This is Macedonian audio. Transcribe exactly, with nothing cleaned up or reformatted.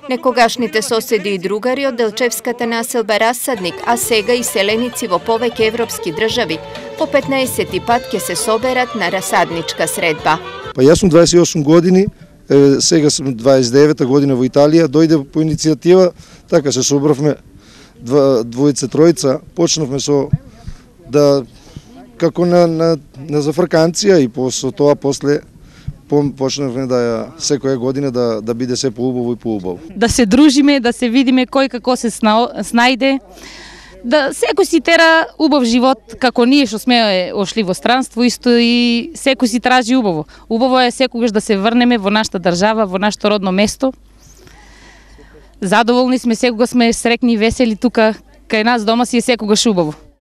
Некогашните соседи и другари од Делчевската населба Расадник, а сега и селеници во повеќе европски држави, по петнаесети пат ќе се соберат на расадничка средба. Па јас сум дваесет и осум години, сега сум дваесет и девета година во Италија, дојде по иницијатива, така се собравме двојца, тројца, почнавме со да како на на на зафрканција и после тоа после почнавме да ја секоја година да да биде се поубаво и поубаво. Да се дружиме, да се видиме кој како се снајде, да секој си тера убав живот, како ние што сме ошли во странство, исто и секој си тражи убаво. Убаво е секогаш да се врнеме во нашата држава, во нашето родно место. Задоволни сме, секогаш сме среќни и весели тука, кај нас дома си е секогаш убаво.